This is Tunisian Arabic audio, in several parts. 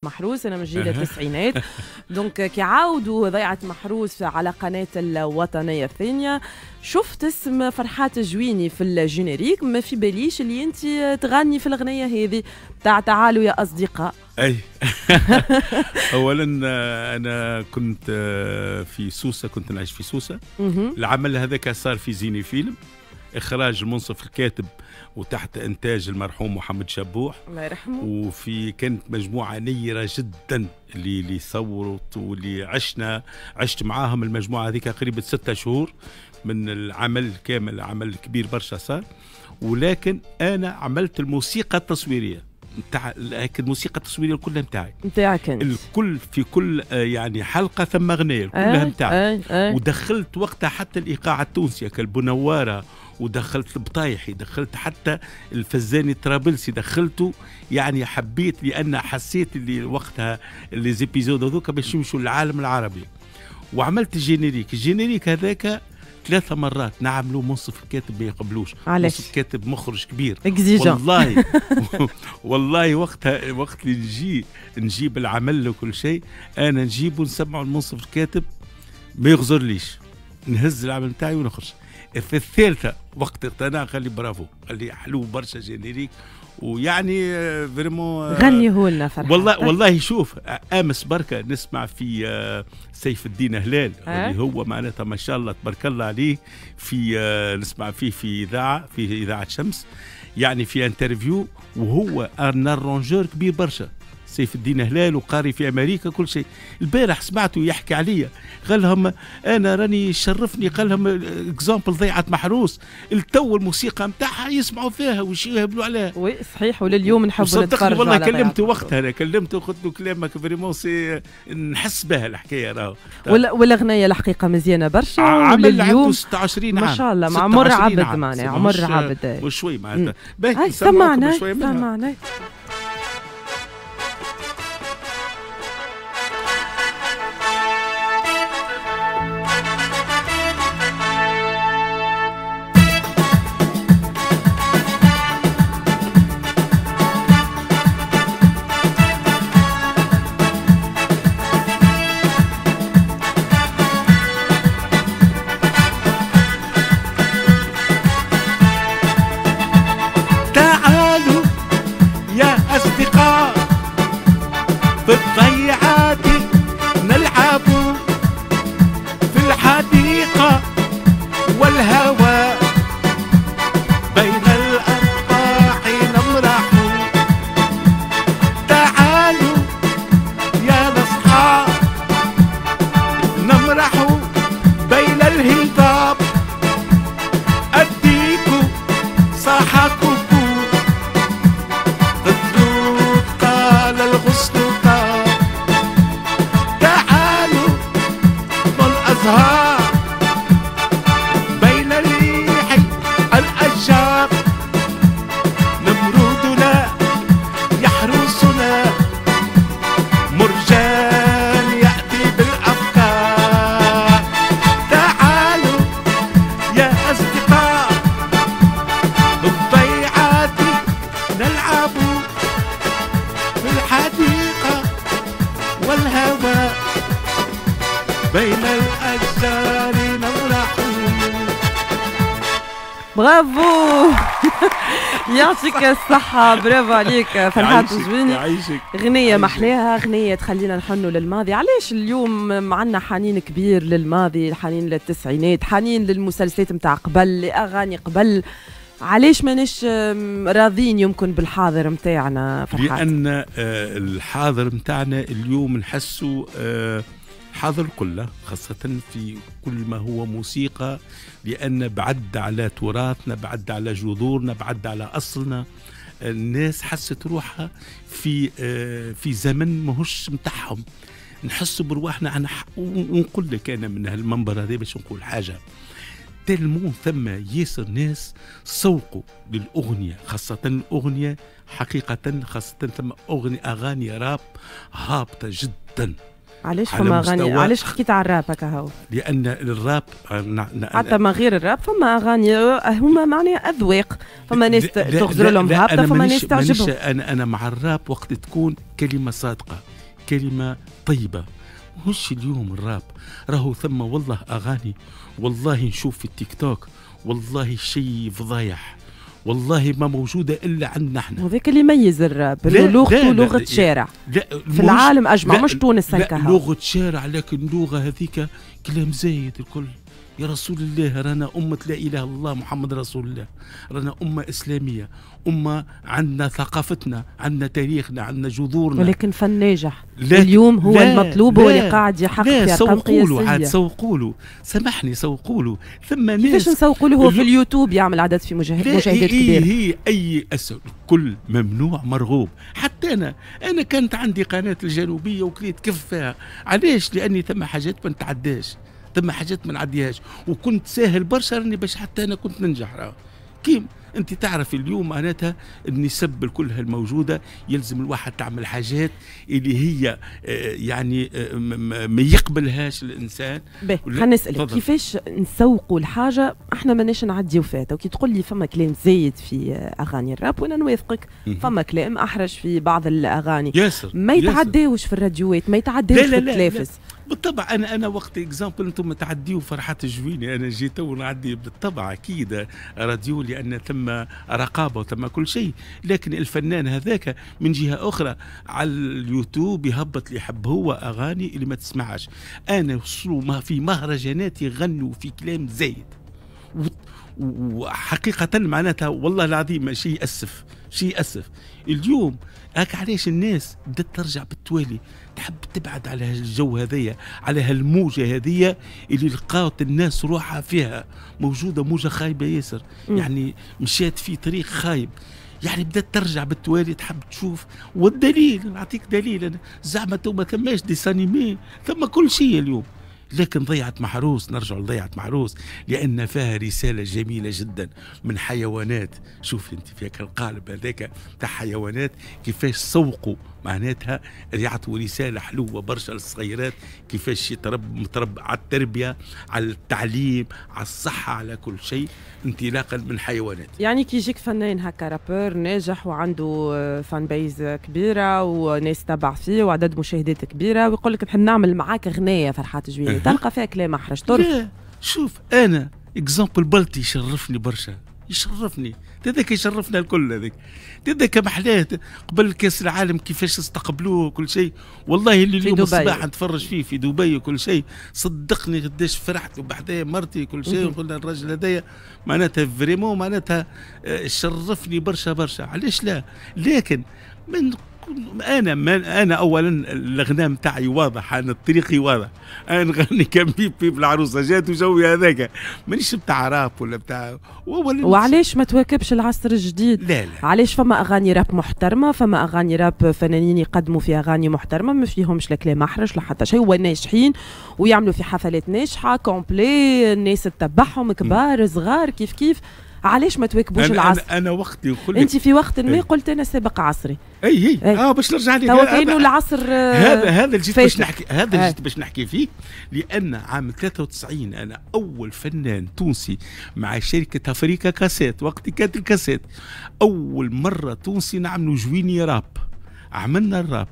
محروس، انا من جيل التسعينات، donc كي عاودوا ضيعه محروس على قناة الوطنية الثانية شفت اسم فرحات جويني في ال générique، ما في باليش اللي انت تغني في الاغنية هذه تاع تعالوا يا اصدقاء. اي اولا انا كنت في سوسة، كنت نعيش في سوسة. العمل هذاك صار في زيني فيلم، اخراج المنصف الكاتب وتحت انتاج المرحوم محمد شبوح الله يرحمه. وفي كانت مجموعة نيره جدا اللي صورت واللي عشت معاهم المجموعة هذيك قريبه 6 شهور من العمل كامل، عمل كبير برشا صار. ولكن انا عملت الموسيقى التصويرية نتاع الموسيقى التصويرية كلها نتاعي، نتاعك انت الكل في كل يعني حلقة ثم اغنية كلها نتاعي. ودخلت وقتها حتى الايقاع التونسي كالبنواره، ودخلت البطايحي، دخلت حتى الفزاني الطرابلسي دخلته، يعني حبيت لان حسيت اللي وقتها les épisodes هذوك باش يمشوا للعالم العربي. وعملت ال générique، ال générique هذاك 3 مرات نعملوا، منصف الكاتب ما يقبلوش. علاش؟ منصف الكاتب مخرج كبير exigeant والله. والله وقتها وقت اللي نجيب العمل وكل شيء انا نجيبه نسمعه المنصف الكاتب ما يغزرليش، نهز العمل نتاعي ونخرج. في الثالثة وقت اقتنع قال لي برافو، قال لي حلو برشا générique، ويعني vraiment غنية لنا فرحات. والله شوف امس بركة نسمع في سيف الدين هلال اللي هو معناتها ما شاء الله تبارك الله عليه، في نسمع فيه في اذاعة، في اذاعة شمس، يعني في interview، وهو un arrangeur كبير برشا سيف الدين هلال، وقاري في امريكا كل شيء. البارح سمعته يحكي عليا، قال لهم انا راني شرفني، قال لهم exemple ضيعه محروس التو الموسيقى نتاعها يسمعوا فيها ويهبلوا عليها. oui صحيح، ولليوم نحبوا نتفرجوا. والله كلمته وقتها، انا كلمته قلت له كلامك vraiment c'est نحس بها الحكاية راهو. والاغنية الحقيقة مزيانه برشا، عمل عنده 26 عام ما شاء الله، مع عمر عبد معناها عمر عبد مش شوي معناتها. باهي سمعنا سمعنا. في الضيعات نلعب في الحديقة والهواء بين الأرواح نمرح. تعالوا يا الأصحاب نمرح بين الهضاب، أديك صاحكم قال الغصن. تعالوا الأزهار بين ريح الأشجار، نمرودنا يحرسنا مرجان يأتي بالأفكار. تعالوا يا أصدقاء بالضيعات نلعب في الحديقة والهواء بين الأشجار نمرح. برافو يعطيك الصحة، برافو عليك فرحات جويني. غنية محلاها، غنية تخلينا نحنوا للماضي. علاش اليوم عندنا حنين كبير للماضي، حنين للتسعينات، حنين للمسلسلات متاع قبل، لأغاني قبل؟ علاش ماناش راضين يمكن بالحاضر متاعنا فرحات؟ لأن الحاضر متاعنا اليوم نحسه حاضر كله، خاصة في كل ما هو موسيقى، لأن بعد على تراثنا، بعد على جذورنا، بعد على أصلنا. الناس حست روحها في زمن ماهوش متاعهم. نحس برواحنا. أنا ونقول لك أنا من هالمنبر هذا باش نقول حاجة، تلمون ثم ياسر ناس سوقوا للأغنية، خاصة الأغنية حقيقة، خاصة ثم أغاني راب هابطة جدا. علاش فما اغاني؟ علاش حكيت على الراب هكا هو؟ لان الراب حتى ما غير الراب فما اغاني هما معناها اذواق، فما ناس تغزر لهم هابطة، فما ناس تعجبهم. انا مع الراب وقت تكون كلمة صادقة. الكلمة طيبة. مش اليوم الراب راهو ثم والله اغاني، والله نشوف في التيك توك والله شيء فضايح، والله ما موجودة الا عندنا احنا. وذاك اللي يميز الراب انه لغته لغة شارع في العالم اجمع، مش تونس هكا. لغة شارع، لكن اللغة هذيك كلام زايد الكل. يا رسول الله، رانا أمة لا إله إلا الله محمد رسول الله، رانا أمة إسلامية، أمة عندنا ثقافتنا، عندنا تاريخنا، عندنا جذورنا. ولكن فن ناجح اليوم هو المطلوب، هو اللي قاعد يحقق في أرقام قياسية. عاد سوقوا له، سامحني، سوقوا له. ثم ناس كيفاش نسوقوا له؟ هو في اليوتيوب يعمل عدد في مشاهدات كبيرة. هي أي كل ممنوع مرغوب. حتى أنا كانت عندي قناة الجنوبية وكليت كف فيها. علاش؟ لأني ثم حاجات ما نتعداش، ثم حاجات ما نعديهاش، وكنت ساهل برشا راني باش حتى انا كنت ننجح. راه كيم انت تعرف اليوم معناتها النسب كلها الموجودة، يلزم الواحد تعمل حاجات اللي هي يعني ما يقبلهاش الانسان. خلينا نسالك كيفاش نسوقوا الحاجة احنا ماناش نعديو فيها. وكي تقول لي فما كلام زايد في اغاني الراب وانا نوافقك، فما كلام احرج في بعض الاغاني ياسر، ما يتعداوش في الراديوات، ما يتعداوش في التلافز. بالطبع انا وقت exemple انتم تعديوا فرحات الجويني، انا جيت ونعدي بالطبع اكيد راديو، لان ثم رقابه وثم كل شيء. لكن الفنان هذاك من جهة اخرى على اليوتيوب يهبط اللي يحب هو اغاني اللي ما تسمعش. انا وصلوا في مهرجانات يغنوا في كلام زايد، وحقيقة معناتها والله العظيم شيء يأسف، شيء يأسف. اليوم هاك علاش الناس بدأت ترجع بالتوالي، تحب تبعد على هالجو هذيا، على هالموجة هذيا اللي لقات الناس روحها فيها. موجودة موجة خايبة ياسر، يعني مشات في طريق خايب، يعني بدأت ترجع بالتوالي تحب تشوف. والدليل نعطيك دليل، أنا زعما تو ما ثماش dessins animés، ثم كل شيء اليوم. لكن ضيعة محروس، نرجع لضيعة محروس لأن فيها رسالة جميلة جدا من حيوانات. شوف انت في القالب هذاك تاع حيوانات كيفاش سوقوا، معناتها يعطوا رسالة حلوة برشا للصغيرات، كيفاش مترب على التربية، على التعليم، على الصحة، على كل شيء، انطلاقا من حيوانات. يعني كي يجيك فنان هكا rappeur ناجح وعنده fan base كبيرة وناس تبع فيه وعدد مشاهدات كبيرة، ويقول لك نحب نعمل معاك غناية فرحات جويني، تلقى فيها كلام أحرج طرف. شوف أنا exemple بلطي يشرفني برشا، يشرفني هذاك، يشرفنا الكل هذاك، هذاك محلاه قبل كاس العالم كيفاش استقبلوه وكل شيء. والله اللي اليوم الصباح نتفرج فيه في دبي وكل شيء، صدقني قداش فرحت وبحذايا مرتي كل شيء، وقلنا الراجل هذايا معناتها vraiment معناتها شرفني برشا برشا. علاش لا؟ لكن من انا اولا الغناء نتاعي واضح، انا طريقي واضح، انا نغني كان بيب بيب العروسة جات وجوي هذاك، مانيش بتاع راب ولا بتاع. وعلاش ما تواكبش العصر الجديد؟ لا لا، علاش فما اغاني راب محترمه، فما اغاني راب فنانين يقدموا في اغاني محترمه ما فيهمش لا كلام احرج لا حتى شيء، وناجحين ويعملوا في حفلات ناجحة complet، الناس تتبعهم كبار صغار كيف كيف. علاش ما تواكبوش العصر؟ انا وقتي نقول انت في وقت ما قلت انا سابق عصري. اي اي باش نرجع لك توا كاينو العصر هذا اللي جيت باش نحكي، هذا اللي جيت باش نحكي فيه. لان عام 93 انا اول فنان تونسي مع شركة افريكا كاسيت، وقت كانت الكاسيت، اول مرة تونسي نعملوا جويني راب. عملنا الراب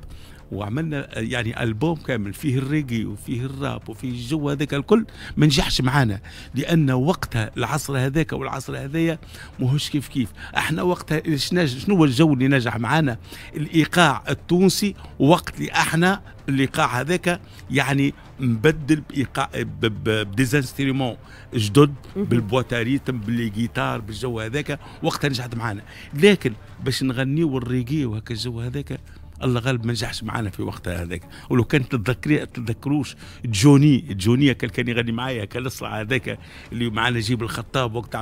وعملنا يعني ألبوم كامل فيه الريجي وفيه الراب وفيه الجو هذاك الكل، ما نجحش معانا لأن وقتها العصر هذاك والعصر هذايا ماهوش كيف كيف. احنا وقتها شنو هو الجو اللي نجح معانا؟ الإيقاع التونسي. وقت اللي احنا الايقاع هذاك يعني مبدل بايقاع ب des instruments جدد، بال boîte à rythmes، ب les guitares، بالجو هذاك، وقتها نجحت معانا. لكن باش نغنيو الريجي وهكا الجو هذاك الله غالب ما نجحش معنا في وقتها هذاك. ولو كان تتذكروش جوني كان يغني معايا، كان الاصلع هذاك اللي معنا نجيب الخطاب، وقت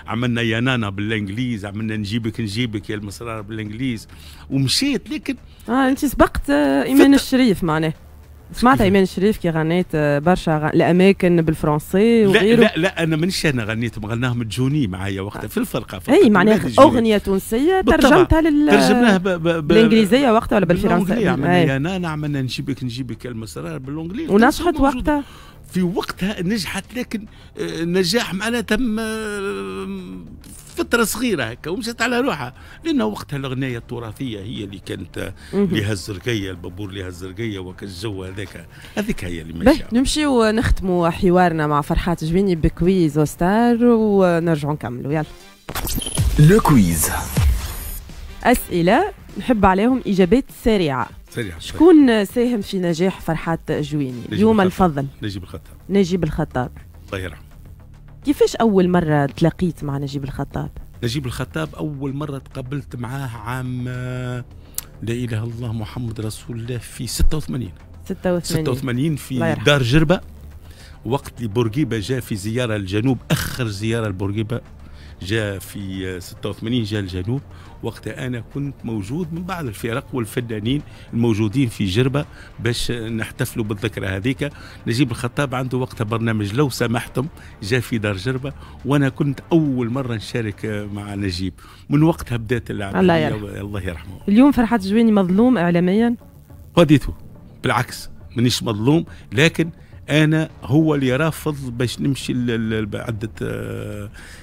عملنا يا نانا بالانجليز، عملنا نجيبك يا المسرار بالانجليز، ومشيت. لكن انت سبقت ايمان الشريف معناه. سمعت ايمان الشريف كي غنيت برشا الاماكن بالفرنسي وغيره. لا لا لا، انا مانيش انا غنيتهم، غناهم جوني معايا وقتها في الفرقة. اي معناها اغنية تونسية ترجمتها ترجمناها بالانجليزية وقتها ولا بالفرنسيه؟ عملنا يا نانا، عملنا نجيبك المسرار بال anglais، ونجحت وقتها. في وقتها نجحت، لكن نجاح معناتها تم فترة صغيرة هكا ومشت على روحها، لأن وقتها الأغنية التراثية هي اللي كانت لها الزرقية، البابور لها الزرقية وكالجو هذاك، هذيك هي اللي ماشية. نمشيو نختموا حوارنا مع فرحات جويني ب quiz ستار ونرجعوا نكملوا. يلا le quiz، أسئلة نحب عليهم إجابات سريعة. سريعة. شكون ساهم في نجاح فرحات جويني؟ اليوم الفضل. نجيب الخطاب. نجيب الخطاب الله يرحمه. كيفاش أول مرة تلاقيت مع نجيب الخطاب؟ نجيب الخطاب أول مرة تقابلت معاه عام لا إله إلا الله محمد رسول الله في 86. 86 في دار جربة، وقت اللي بورقيبة جاء في زيارة للجنوب، آخر زيارة لبورقيبة جاء في 86، جاء الجنوب. وقتها أنا كنت موجود من بعض الفرق والفنانين الموجودين في جربة باش نحتفلوا بالذكرى هذيك. نجيب الخطاب عنده وقتها برنامج لو سمحتم، جاء في دار جربة، وأنا كنت أول مرة نشارك مع نجيب. من وقتها بدأت اللعبة. الله يرحمه. الله يرحمه. اليوم فرحات جويني مظلوم إعلاميا؟ قضيته بالعكس، مانيش مظلوم، لكن أنا هو اللي رافض باش نمشي بعدة،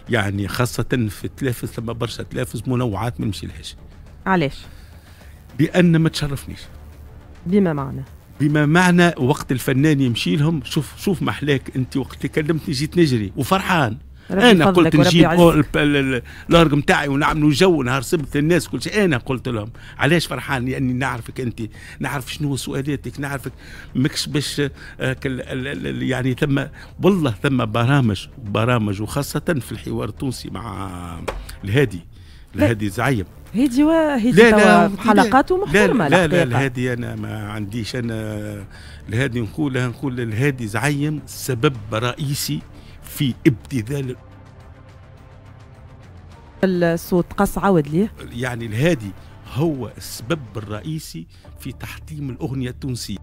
يعني خاصة في التلافز، ثم برشا تلافز منوعات ما نمشي لهاش. علاش؟ لأن ما تشرفنيش. بما معنى؟ بما معنى وقت الفنان يمشي لهم، شوف شوف محلاك أنت وقت كلمتني جيت نجري وفرحان. انا قلت نجيب الارج نتاعي ونعملوا جو نهار سبت للناس كل شيء. انا قلت لهم علاش فرحان؟ لاني نعرفك انت، نعرف شنو سؤالاتك، نعرفك ماكش باش يعني ثم والله ثم برامج وخاصة في الحوار التونسي مع الهادي، الهادي زعيم. هادي وهادي حلقاته محترمه. لا لا الهادي انا ما عنديش، انا الهادي نقول الهادي زعيم سبب رئيسي في ابتذال الصوت. قص عاود ليه. يعني الهادي هو السبب الرئيسي في تحطيم الأغنية التونسية.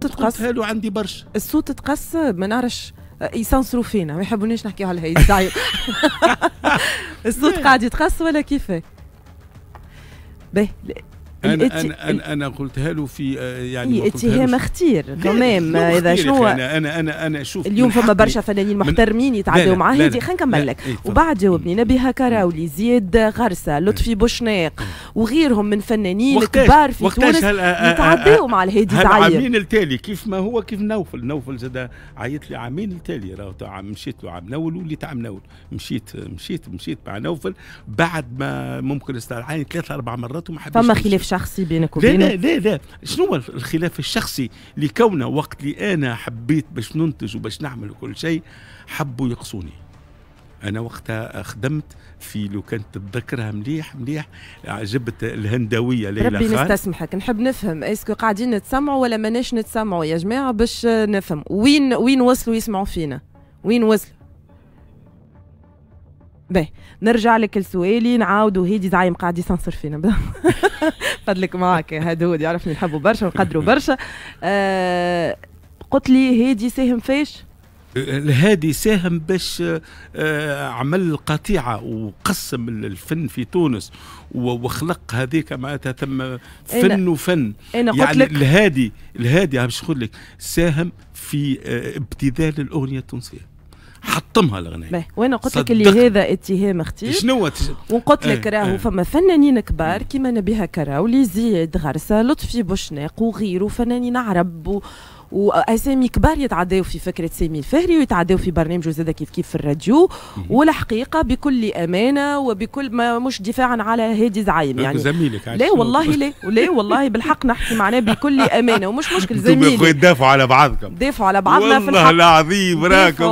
تقص له عندي برشا الصوت تقص، ما نعرفش يسنصروا فينا، ما يحبونيش نحكيو على الهادي زعيم. الصوت قاعد يتقص ولا كيف؟ باهي انا انا قلتها له في يعني اتهام خطير كمان. اذا شنو انا انا انا شوف اليوم فما برشا فنانين محترمين يتعداو مع هادي. خلينا نكمل لك وبعد جاوبني. نبيهة كراولي، زياد غرسه، لطفي بوشناق وغيرهم من فنانين كبار في تونس يتعداو مع الهادي زعيم. عامين التالي كيف ما هو كيف نوفل زاد عيط لي عامين التالي، راهو مشيت له عام نول وليت عام نول، مشيت مشيت مشيت مع نوفل بعد ما ممكن استدعاني 3 4 مرات وما حبيتش. فما خلاف شخصي بينك وبينه؟ لا لا لا، شنو الخلاف الشخصي؟ لكونه وقت اللي انا حبيت باش ننتج وباش نعمل كل شيء حبوا يقصوني. انا وقتها خدمت في، لو كانت تتذكرها مليح مليح، عجبت الهندويه ليلى ربي خان. نستسمحك، نحب نفهم est-ce que قاعدين نتسمعوا ولا ماناش نتسمعوا يا جماعة باش نفهم وين وصلوا يسمعوا فينا، وين وصلوا. باهي نرجع لك لسؤالي، نعاودوا. هادي زعيم قاعد يسنصر فينا. فضلك معاك يا هدود، يعرفني نحبه برشا ونقدره برشا. قلت لي هادي ساهم فاش؟ الهادي ساهم باش عمل قطيعة وقسم الفن في تونس وخلق هذيك معناتها ثم فن وفن. أنا قلت يعني لك الهادي باش نقول لك ساهم في ابتذال الأغنية التونسية، حطمها الأغنية. وانا قلت لك اللي هذا اتهام خطير. شنو وقلت لك راهو فما فنانين كبار كيما نبيهة كراولي، زياد غرسه، لطفي بوشناق وغيره، فنانين عرب واسامي كبار يتعداو في فكرة سامي الفهري ويتعداو في برنامجه زاده كيف كيف في الراديو. والحقيقة بكل امانه وبكل ما مش دفاعا على هادي زعيم يعني زميلك. لا والله لا لا والله بالحق نحكي معناه بكل امانه ومش مشكل زميلي. تدافعوا على بعضكم، دافعوا على بعضنا في والله الحق. العظيم راكم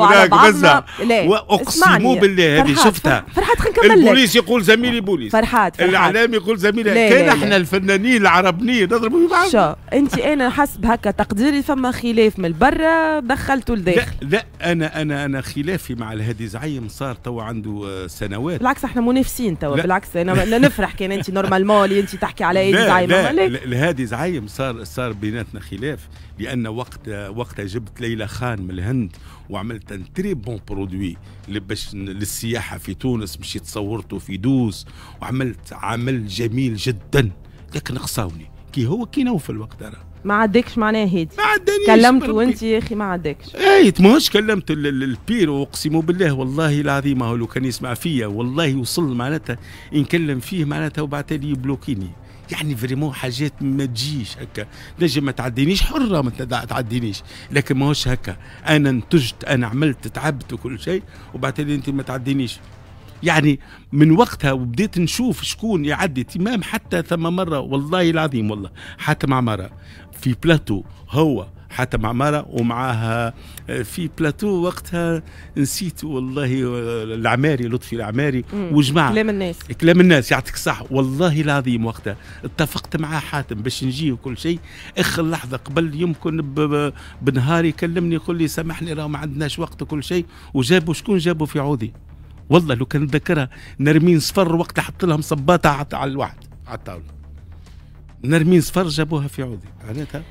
بس واقسم بالله هذه شفتها. فرحات خلينا نكمل لك. البوليس يقول زميلي بوليس، فرحات الاعلام يقول زميلي، كان احنا الفنانين العربنيين نضربوا في بعض. شو انت انا حسب هكا تقديري فما خلاف من برا دخلته لداخل. لا لا انا انا خلافي مع الهادي زعيم صار توا عنده سنوات. بالعكس احنا منافسين توا، بالعكس انا نفرح كان انت normalement اللي انت تحكي على هادي زعيم. لا لا الهادي زعيم صار بيناتنا خلاف، لان وقتها جبت ليلى خان من الهند وعملت un très bon produit باش للسياحة في تونس، مشيت صورته في دوز وعملت عمل جميل جدا، لكن قصاوني كي هو كي نوفل وقتها. ما عداكش معناها هادي؟ ما عدانيش. كلمته وانت يا اخي ما عداكش؟ اي ماهوش كلمت البير، واقسم بالله والله العظيم هو لو كان يسمع فيا والله وصل معناتها نكلم فيه معناتها وبعد لي يبلوكيني. يعني vraiment حاجات ما تجيش هكا، نجم ما تعدينيش، حره ما تعدينيش، لكن ماهوش هكا. انا انتجت، انا عملت، تعبت وكل شيء، وبعد لي انت ما تعدينيش. يعني من وقتها وبديت نشوف شكون يعدي تمام. حتى ثم مرة والله العظيم والله حاتم عمارة في بلاتو، هو حاتم عمارة ومعاها في بلاتو وقتها نسيت والله العماري، لطفي العماري وجماعة كلام الناس، كلام الناس يعطيك صح. والله العظيم وقتها اتفقت مع حاتم باش نجي وكل شيء، اخر لحظة قبل يمكن بنهار يكلمني يقول لي سامحني راه ما عندناش وقت وكل شيء. وجابوا شكون؟ جابوا في عودي والله لو كان نتذكرها نرمين صفر وقت حط لهم صباطه على الواحد على الطاولة، نرمين صفر جابوها في عودي معناتها.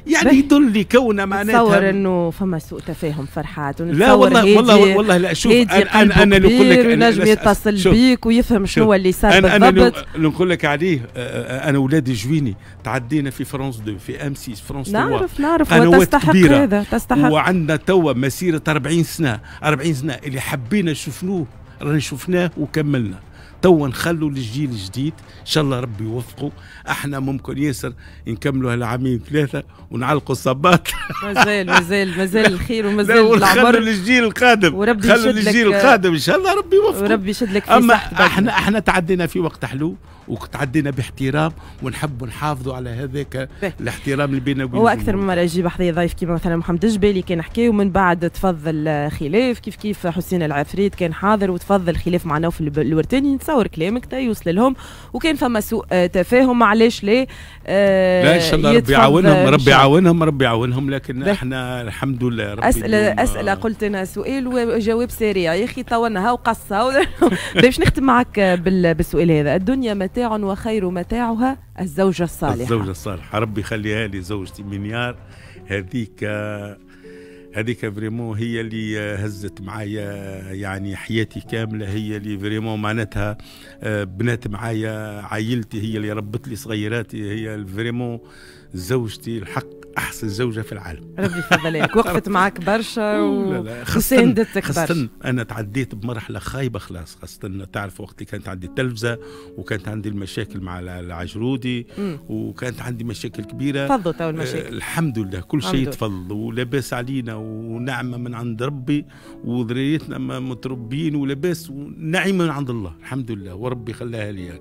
يعني يدل لي كونه معناتها نتصور انه فما سوء تفاهم فرحات. لا والله والله والله لا شوف انا نقول لك نجم يتصل بيك ويفهم شنو اللي صار بالضبط. انا نقول لك عليه، انا ولادي جويني تعدينا في فرانس 2 في M6 فرانس 3، نعرف وتستحق هذا، تستحق. وعندنا توا مسيره 40 سنة، 40 سنة اللي حبينا شفنوه رانا شفناه وكملنا. توا نخلوا للجيل الجديد ان شاء الله ربي يوفقه. احنا ممكن ياسر نكملوا هالعامين ثلاثة ونعلقوا الصباط. مازال مازال مازال الخير ومازال العمر. خلوا للجيل القادم، وربي خلوا للجيل القادم ان شاء الله ربي يوفقه وربي يشد لك في اما احنا تعدينا في وقت حلو وتعدينا باحترام، ونحب نحافظوا على هذاك الاحترام اللي بيننا وبين. هو اكثر من مرة يجيب حذايا ضيف كيما مثلا محمد الجبالي كان حكى ومن بعد تفضل خلاف، كيف كيف حسين العفريت كان حاضر وتفضل خلاف مع نوفل الورتاني. نتصور كلامك تا يوصل لهم، وكان فما سوء تفاهم علاش لا؟ لا ان شاء الله ربي يعاونهم، ربي يعاونهم، ربي يعاونهم. لكن احنا الحمد لله ربي. اسئلة قلت انا سؤال وجواب سريع يا اخي طولناها وقصة. باش نختم معك بالسؤال هذا، الدنيا متاع وخير متاعها الزوجة الصالحة. الزوجة الصالحة ربي يخليها لي زوجتي منيار، هذيك vraiment هي اللي هزت معايا يعني حياتي كاملة، هي اللي vraiment معناتها بنات معايا عائلتي، هي اللي ربت لي صغيراتي، هي vraiment زوجتي الحق احسن زوجه في العالم. ربي يفضلك، وقفت معك برشا وساندتك برشا. انا تعديت بمرحلة خايبة خلاص، خاصة تعرف وقت اللي كانت عندي التلفزة وكانت عندي المشاكل مع العجرودي وكانت عندي مشاكل كبيرة. تفضلوا تو المشاكل. الحمد لله كل شيء تفضل ولاباس علينا ونعمه من عند ربي، وذريتنا متربيين ولاباس ونعيمه من عند الله الحمد لله، وربي خلاها لي.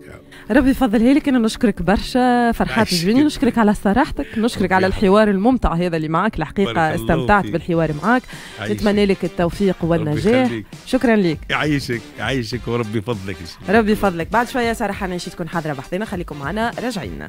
ربي يفضلها لك. انا نشكرك برشا فرحات الجويني، نشكرك على صراحتك، نشكرك على الحوار الممتع هذا اللي معك. الحقيقة استمتعت بالحوار معك، نتمنى لك التوفيق والنجاح. شكرا لك. يعيشك يعيشك وربي يفضلك. ربي يفضلك. بعد شوية سارة حناشي تكون حاضرة بحذنا، خليكم معنا راجعين.